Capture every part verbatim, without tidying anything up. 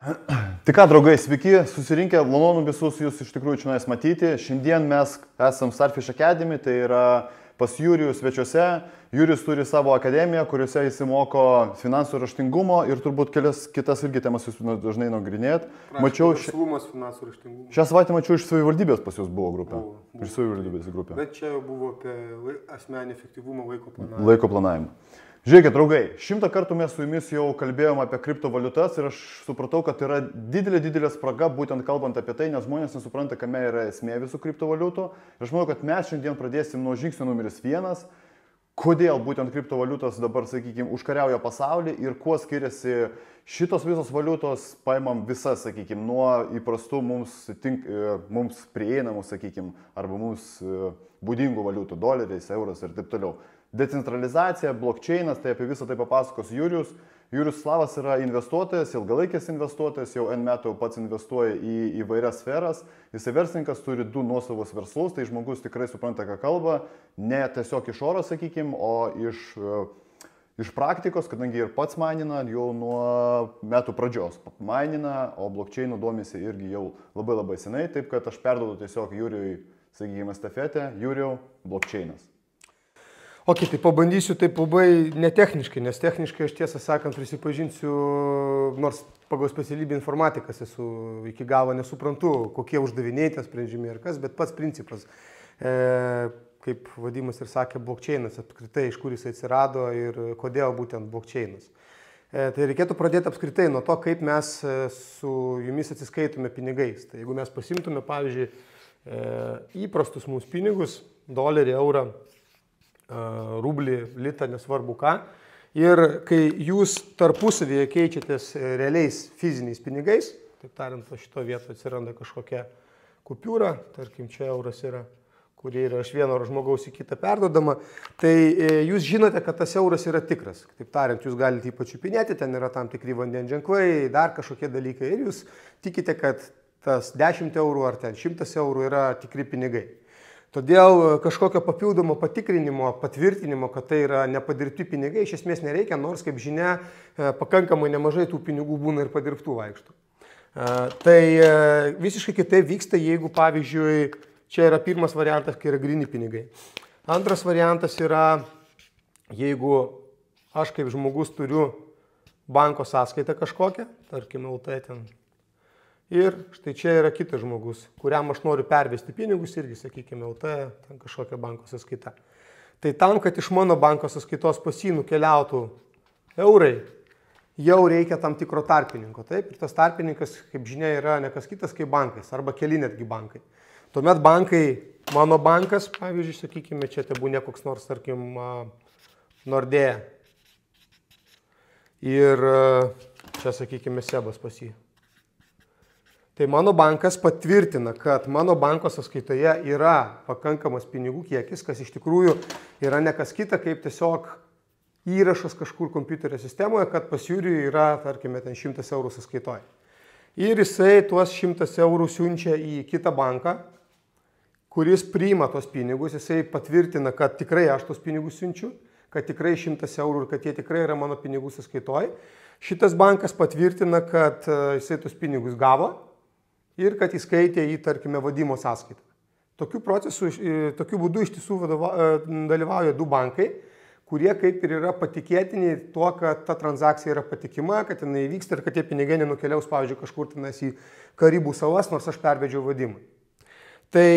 Tik ką, draugai, sveiki, susirinkę, malonu visus jūs iš tikrųjų čia matyti. Šiandien mes esam Starfish Academy, tai yra pas Jurijų svečiuose. Jurijus turi savo akademiją, kuriuose jis moko finansų raštingumo ir turbūt kelias kitas irgi temas jūs dažnai nagrinėjat. Mačiau verslumas, finansų raštingumo. Šią savaitę mačiau iš savivaldybės pas jūs buvo grupė. Buvo, buvo. Iš savivaldybės grupė. Bet čia jau buvo apie asmenį efektyvumą, laiko planavimą. Laiko planavimą. Žiūrėkit, draugai, šimtą kartų mes su jumis jau kalbėjom apie kriptovaliutas ir aš supratau, kad yra didelė, didelė spraga, būtent kalbant apie tai, nes žmonės nesupranta, kame yra esmė visų kriptovaliutų. Ir aš manau, kad mes šiandien pradėsim nuo žingsnio numeris vienas, kodėl būtent kriptovaliutos dabar, sakykime, užkariauja pasaulį ir kuo skiriasi šitos visos valiutos, paimam visas, sakykime, nuo įprastų mums, tink, mums prieinamų, sakykime, arba mums būdingų valiutų, doleriais, euras ir taip toliau. Decentralizacija, blockchainas, tai apie visą tai papasakos Jurijus. Jurijus Slavas yra investuotojas, ilgalaikis investuotojas, jau N metų pats investuoja į įvairias sferas. Jisai verslininkas, turi du nuosavus verslus, tai žmogus tikrai supranta, ką kalba, ne tiesiog iš oro, sakykime, o iš, iš praktikos, kadangi ir pats mainina jau nuo metų pradžios. Mainina, o blockchainų domisi irgi jau labai labai senai, taip kad aš perduodu tiesiog Jurijui, sakykime, estafetę. Jurijau, blockchainas. Ok, tai pabandysiu taip labai netechniškai, nes techniškai aš tiesą sakant prisipažinsiu, nors pagal specialybę informatikas esu, iki galo nesuprantu, kokie uždaviniai tie sprendžiami ir kas, bet pats principas, e, kaip Vadimas ir sakė, blockchainas apskritai, iš kur jis atsirado ir kodėl būtent blockchainas. E, tai reikėtų pradėti apskritai nuo to, kaip mes su jumis atsiskaitume pinigais. Tai jeigu mes pasimtume, pavyzdžiui, e, įprastus mūsų pinigus, dolerį, eurą, rublį, litą, nesvarbu ką. Ir kai jūs tarpusavėje keičiatės realiais fiziniais pinigais, taip tariant, šito vietoje atsiranda kažkokia kupiūra, tarkim, čia euras yra, kurie yra iš vieno žmogaus į kitą perdodama, tai jūs žinote, kad tas euras yra tikras. Taip tariant, jūs galite jį pačiupinėti, ten yra tam tikri vandens ženklai, dar kažkokie dalykai ir jūs tikite, kad tas dešimt eurų ar ten šimtas eurų yra tikri pinigai. Todėl kažkokio papildomo patikrinimo, patvirtinimo, kad tai yra nepadirbti pinigai, iš esmės nereikia, nors, kaip žinia, pakankamai nemažai tų pinigų būna ir padirbtų vaikštų. Tai visiškai kitaip vyksta, jeigu, pavyzdžiui, čia yra pirmas variantas, kai yra gryni pinigai. Antras variantas yra, jeigu aš kaip žmogus turiu banko sąskaitą kažkokią, tarkim, L T ten. Ir štai čia yra kitas žmogus, kuriam aš noriu pervesti pinigus irgi, sakykime, L T, ten kažkokia banko sąskaita. Tai tam, kad iš mano banko sąskaitos pas jį nukeliautų eurai, jau reikia tam tikro tarpininko. Taip? Ir tas tarpininkas, kaip žinia, yra ne kas kitas kaip bankais, arba keli netgi bankai. Tuomet bankai, mano bankas, pavyzdžiui, sakykime, čia tebūnė koks nors, tarkim, Nordea. Ir čia, sakykime, Sebas pas jį. Tai mano bankas patvirtina, kad mano banko sąskaitoje yra pakankamas pinigų kiekis, kas iš tikrųjų yra ne kas kita, kaip tiesiog įrašas kažkur kompiuterio sistemoje, kad pas Jurijų yra, tarkime, ten šimtas eurų sąskaitoje. Ir jisai tuos šimtas eurų siunčia į kitą banką, kuris priima tos pinigus, jisai patvirtina, kad tikrai aš tos pinigus siunčiu, kad tikrai šimtas eurų ir kad jie tikrai yra mano pinigų sąskaitoje. Šitas bankas patvirtina, kad jisai tos pinigus gavo ir kad įskaitė į, tarkime, Vadimo sąskaitą. Tokiu procesu, tokiu būdu iš tiesų dalyvauja du bankai, kurie kaip ir yra patikėtini tuo, kad ta transakcija yra patikima, kad jinai vyksta ir kad tie pinigai nenukeliaus, pavyzdžiui, kažkur tenais į Karibų salas, nors aš pervedžiau Vadimui. Tai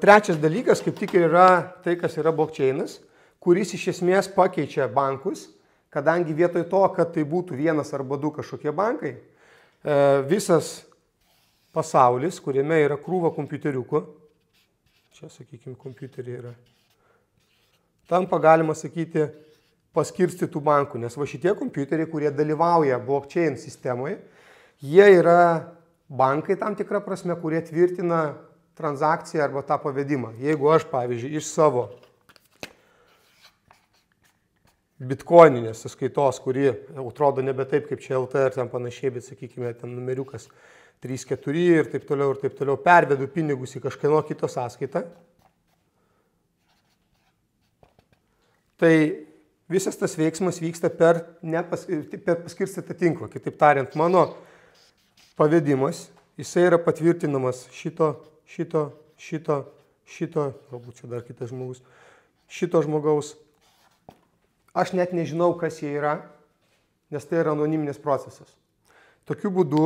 trečias dalykas, kaip tik ir yra tai, kas yra blockchainas, kuris iš esmės pakeičia bankus, kadangi vietoj to, kad tai būtų vienas arba du kažkokie bankai, visas pasaulis, kuriame yra krūva kompiuteriukų, čia, sakykime, kompiuteriai yra, tampa, galima sakyti, paskirstytų bankų, nes va šitie kompiuteriai, kurie dalyvauja blockchain sistemoje, jie yra bankai tam tikrą prasme, kurie tvirtina transakciją arba tą pavedimą. Jeigu aš, pavyzdžiui, iš savo bitcoininės sąskaitos, kuri atrodo nebe taip, kaip čia L T ir ten panašiai, bet, sakykime, ten numeriukas trys keturi ir taip toliau ir taip toliau, pervedu pinigus į kažkieno kito sąskaitą, tai visas tas veiksmas vyksta per, nepas, per paskirstytą tinklą. Kitaip tariant, mano pavedimas, jisai yra patvirtinamas šito, šito, šito, šito, galbūt čia dar kitas žmogus, šito žmogaus. Aš net nežinau, kas jie yra, nes tai yra anoniminis procesas. Tokiu būdu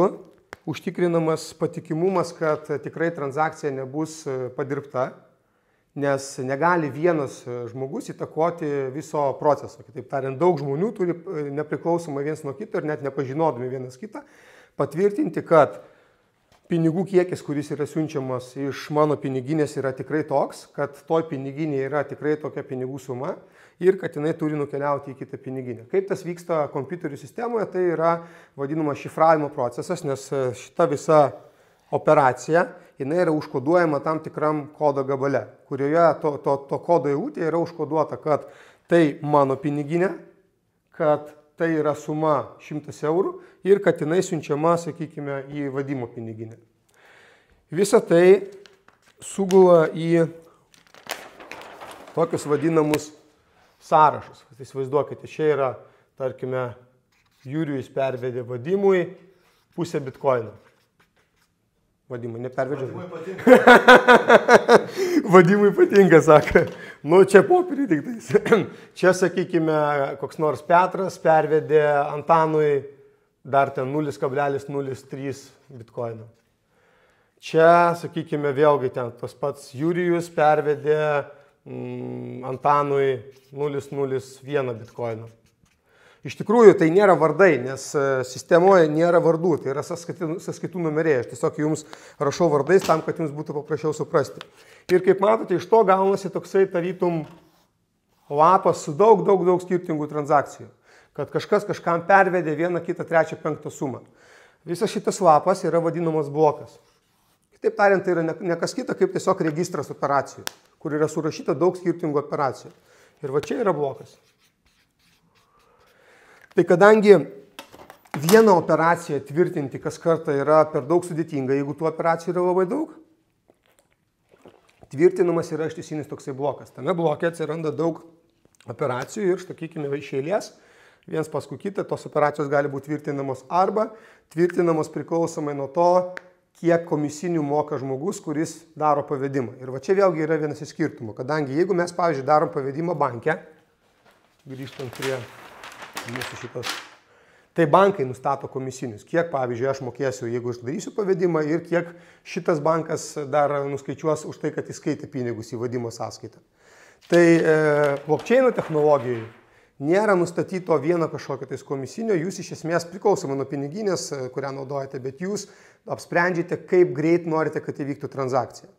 užtikrinamas patikimumas, kad tikrai transakcija nebus padirbta, nes negali vienas žmogus įtakoti viso proceso. Kitaip tariant, daug žmonių turi nepriklausomai vienas nuo kito ir net nepažinodami vienas kitą patvirtinti, kad pinigų kiekis, kuris yra siunčiamas iš mano piniginės, yra tikrai toks, kad toj piniginėje yra tikrai tokia pinigų suma ir kad jinai turi nukeliauti į kitą piniginę. Kaip tas vyksta kompiuterių sistemoje, tai yra vadinamas šifravimo procesas, nes šita visa operacija, jinai yra užkoduojama tam tikram kodo gabale, kurioje to, to, to kodo eilutė yra užkoduota, kad tai mano piniginė, kad tai yra suma šimtas eurų ir kad jinai siunčiama, sakykime, į vadimo piniginę. Visa tai sugula į tokius vadinamus sąrašus. Įsivaizduokite, čia yra, tarkime, Jurijus pervedė vadimui pusę bitkoino. Vadimui, nepervedžiau. Vadimui patinka. Vadimui patinka, sako. Nu, čia popierį tik tais. Čia, sakykime, koks nors Petras pervedė Antanui dar ten nulis kablelis nulis trys bitkoino. Čia, sakykime, vėlgi ten tas pats Jurijus pervedė mm, Antanui nulis nulis vienas bitkoino. Iš tikrųjų, tai nėra vardai, nes sistemoje nėra vardų, tai yra sąskaitų, sąskaitų numeriai. Aš tiesiog jums rašau vardais tam, kad jums būtų paprasčiau suprasti. Ir kaip matote, iš to gaunasi toksai tarytum lapas su daug, daug, daug skirtingų transakcijų. Kad kažkas kažkam pervedė vieną, kitą, trečią, penktą sumą. Visas šitas lapas yra vadinamas blokas. Kitaip tariant, tai yra ne kas kita, kaip tiesiog registras operacijų, kur yra surašyta daug skirtingų operacijų. Ir va čia yra blokas. Tai kadangi vieną operaciją tvirtinti kas kartą yra per daug sudėtinga, jeigu tų operacijų yra labai daug, tvirtinamas yra ištisinis toksai blokas. Tame bloke atsiranda daug operacijų ir, sakykime, iš eilės, viens paskui kitą, tos operacijos gali būti tvirtinamos arba tvirtinamos priklausomai nuo to, kiek komisinių moka žmogus, kuris daro pavedimą. Ir va čia vėlgi yra vienas iš skirtumų, kadangi jeigu mes, pavyzdžiui, darom pavedimą banke, grįžtant prie mūsų šitos, tai bankai nustato komisinius, kiek, pavyzdžiui, aš mokėsiu, jeigu aš darysiu pavedimą ir kiek šitas bankas dar nuskaičiuos už tai, kad įskaitė pinigus į vadimo sąskaitą. Tai e, blockchaino technologijoje nėra nustatyto vieno kažkokio tais komisinio, jūs iš esmės priklausomai nuo piniginės, kurią naudojate, bet jūs apsprendžiate, kaip greit norite, kad įvyktų transakcija.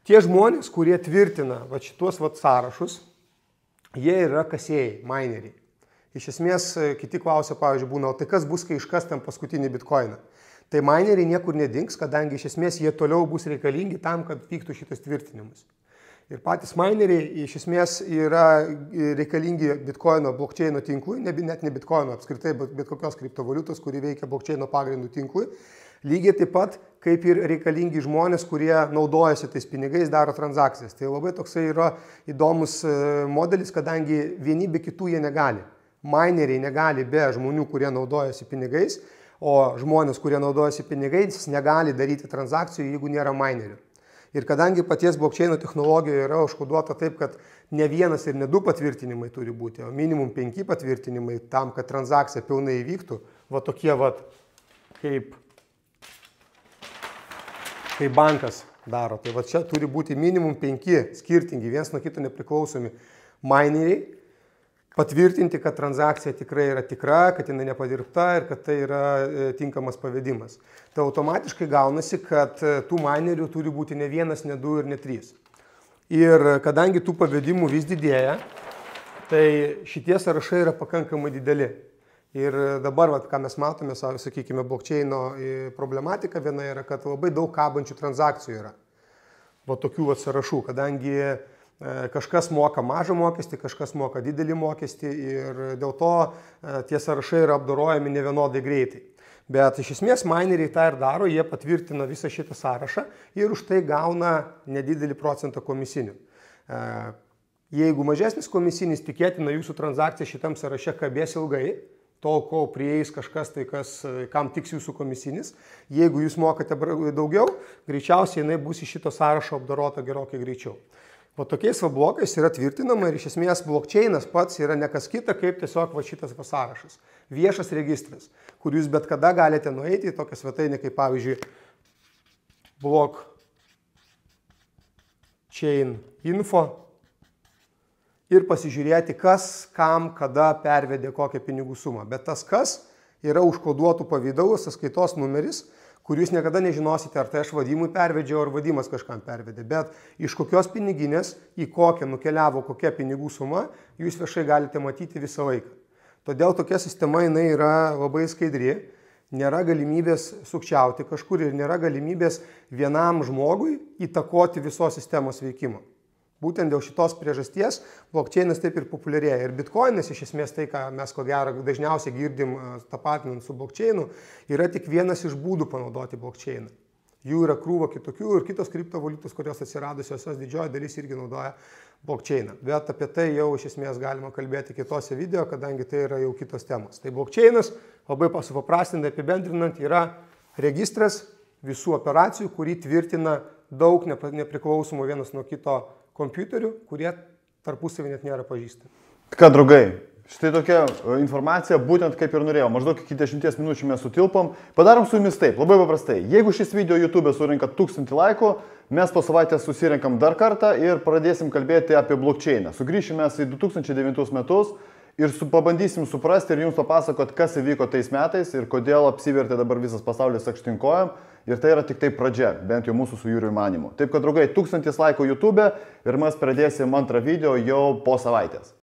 Tie žmonės, kurie tvirtina va, šitos va, sąrašus, jie yra kasėjai, mineriai. Iš esmės, kiti klausia, pavyzdžiui, būna, o tai kas bus, kai iškas ten paskutinį bitkoiną? Tai mineriai niekur nedings, kadangi iš esmės jie toliau bus reikalingi tam, kad vyktų šitas tvirtinimas. Ir patys mineriai iš esmės yra reikalingi bitkoino blockchaino tinklui, ne, net ne bitkoino apskritai, bet, bet kokios kriptovaliutos, kuri veikia blockchaino pagrindų tinklui. Lygiai taip pat, kaip ir reikalingi žmonės, kurie naudojasi tais pinigais, daro transakcijas. Tai labai toksai yra įdomus modelis, kadangi vieni be kitų jie negali. Mineriai negali be žmonių, kurie naudojasi pinigais, o žmonės, kurie naudojasi pinigais, negali daryti transakcijų, jeigu nėra minerių. Ir kadangi paties blockchaino technologijoje yra užkoduota taip, kad ne vienas ir ne du patvirtinimai turi būti, o minimum penki patvirtinimai tam, kad transakcija pilnai įvyktų, va tokie va, kaip, kaip bankas daro. Tai va čia turi būti minimum penki skirtingi, viens nuo kito nepriklausomi mineriai, patvirtinti, kad transakcija tikrai yra tikra, kad jinai nepadirbta ir kad tai yra tinkamas pavedimas. Tai automatiškai gaunasi, kad tų minerių turi būti ne vienas, ne du ir ne trys. Ir kadangi tų pavedimų vis didėja, tai šitie sąrašai yra pakankamai dideli. Ir dabar, vat, ką mes matome, sakykime, blockchaino problematika viena yra, kad labai daug kabančių transakcijų yra. Va tokių vat sąrašų, kadangi kažkas moka mažą mokestį, kažkas moka didelį mokestį ir dėl to tie sąrašai yra apdorojami nevienodai greitai. Bet iš esmės mineriai tą ir daro, jie patvirtina visą šitą sąrašą ir už tai gauna nedidelį procentą komisinių. Jeigu mažesnis komisinis, tikėtina jūsų transakcija šitam sąraše kabės ilgai, tol, kol prieis kažkas tai, kas, kam tiks jūsų komisinis. Jeigu jūs mokate daugiau, greičiausiai jinai bus iš šito sąrašo apdorota gerokai greičiau. O tokiais va blokais yra tvirtinama ir iš esmės blockchainas pats yra ne kas kita, kaip tiesiog va šitas va sąrašas. Viešas registras, kur jūs bet kada galite nueiti į tokią svetainę, kaip pavyzdžiui blockchain info ir pasižiūrėti, kas, kam, kada pervedė kokią pinigų sumą. Bet tas kas yra užkoduotų pavidalų sąskaitos numeris, kur jūs niekada nežinosite, ar tai aš Vadimui pervedžiau, ar Vadimas kažkam pervedė. Bet iš kokios piniginės, į kokią nukeliavo kokia pinigų suma, jūs viešai galite matyti visą laiką. Todėl tokia sistema jinai yra labai skaidri, nėra galimybės sukčiauti kažkur ir nėra galimybės vienam žmogui įtakoti visos sistemos veikimo. Būtent dėl šitos priežasties blockchainas taip ir populiarėja. Ir bitcoinas iš esmės tai, ką mes ko gero dažniausiai girdim tapatinant su blockchainu, yra tik vienas iš būdų panaudoti blockchainą. Jų yra krūva kitokių ir kitos kriptovaliutos, kurios atsiradusios, jos didžioji dalis irgi naudoja blockchainą. Bet apie tai jau iš esmės galima kalbėti kitose video, kadangi tai yra jau kitos temos. Tai blockchainas, labai supaprastintai apibendrinant, yra registras visų operacijų, kurį tvirtina daug nepriklausomų vienas nuo kito kompiuterių, kurie tarpusavį net nėra pažįstami. Ką, draugai, štai tokia informacija, būtent kaip ir norėjau, maždaug iki dešimties minučių mes sutilpam. Padarom su jumis taip, labai paprastai. Jeigu šis video YouTube surinka tūkstantį laikų, mes po savaitės susirenkam dar kartą ir pradėsim kalbėti apie blockchainą. Sugrįšime į du tūkstančiai devintus metus ir su, pabandysim suprasti ir jums papasakot, kas įvyko tais metais ir kodėl apsivertė dabar visas pasaulis aukštinkojam. Ir tai yra tik tai pradžia, bent jau mūsų su Jūriu manymu. Taip kad, draugai, tūkstantis laikų YouTube ir mes pradėsim antrą video jau po savaitės.